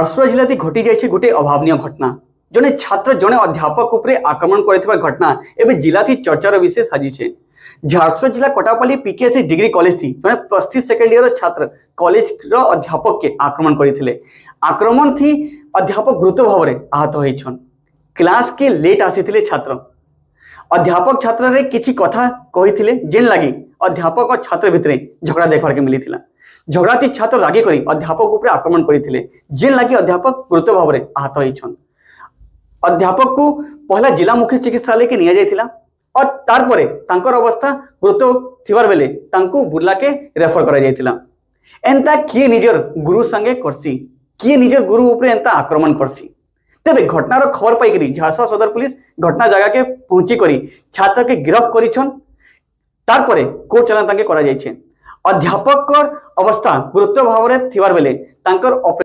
ଝାରସୁଗୁଡ଼ା ଜିଲ୍ଲାରେ ଘଟି ଯାଇଛି ଗୋଟେ ଅଭାବନୀୟ ଘଟଣା। ଜଣେ ଛାତ୍ର ଜଣେ ଅଧ୍ୟାପକ ଉପରେ ଆକ୍ରମଣ କରିଥିବା ଘଟଣା ଏବେ ଜିଲ୍ଲାଥି ଚର୍ଚ୍ଚାର ବିଷୟ ସାଜିছে। ଝାରସୁଗୁଡ଼ା ଜିଲ୍ଲା କଟାପାଲି ପିକେଏସି ଡିଗ୍ରୀ କଲେଜ थी ଜଣେ ପ୍ଲସ୍ 3 ସେକେଣ୍ଡ ଇୟର ଛାତ୍ର କଲେଜର ଅଧ୍ୟାପକକେ ଆକ୍ରମଣ କରିଥିଲେ। ଆକ୍ରମଣ थी ଅଧ୍ୟାପକ ଗୁରୁତର ଭାବରେ ଆହତ ହୋଇଛନ୍। କ୍ଲାସକେ ଲେଟ୍ ଆସିଥିଲେ ଛାତ୍ର। ଅଧ୍ୟାପକ ଛାତ୍ରରେ କିଛି କଥା କହିଥିଲେ, ଯେନ୍ ଲାଗି ଅଧ୍ୟାପକ ଓ ଛାତ୍ର ଭିତରେ ଝଗଡ଼ା ଦେଖବାର୍କେ ମିଳିଥିଲା। ଝଗଡ଼ାତି ଛାତ୍ର ରାଗି କରି ଅଧ୍ୟାପକ ଉପରେ ଆକ୍ରମଣ କରିଥିଲେ, ଯେନ୍ ଲାଗି ଅଧ୍ୟାପକ ଗୁରୁତର ଭାବରେ ଆହତ ହୋଇଛନ୍। ଅଧ୍ୟାପକକୁ ପହଲା ଜିଲ୍ଲା ମୁଖ୍ୟ ଚିକିତ୍ସାଳୟକେ ନିଆଯାଇଥିଲା ଓ ତାରପରେ ତାଙ୍କର ଅବସ୍ଥା ଗୁରୁତର ଥିବାର ବେଲେ ତାଙ୍କୁ ବୁର୍ଲାକେ ରେଫର କରାଯାଇଥିଲା। ଏନ୍ତା କିଏ ନିଜର ଗୁରୁ ସାଙ୍ଗେ କରସି? କିଏ ନିଜର ଗୁରୁ ଉପରେ ଏନ୍ତା ଆକ୍ରମଣ କରସି? ତେବେ ଘଟଣାର ଖବର ପାଇକରି ଝାରସୁଗୁଡ଼ା ସଦର ପୁଲିସ ଘଟଣା ଜାଗାକେ ପହଞ୍ଚି କରି ଛାତ୍ରକେ ଗିରଫ କରିଛନ୍। ତାରପରେ କୋର୍ଟ ଚାଲାଣ ତାଙ୍କେ କରାଯାଇଛି। ଅଧ୍ୟାପକର ଅବସ୍ଥା ଗୁରୁତର ଭାବରେ ଥିବାର ବେଲେ ତାଙ୍କର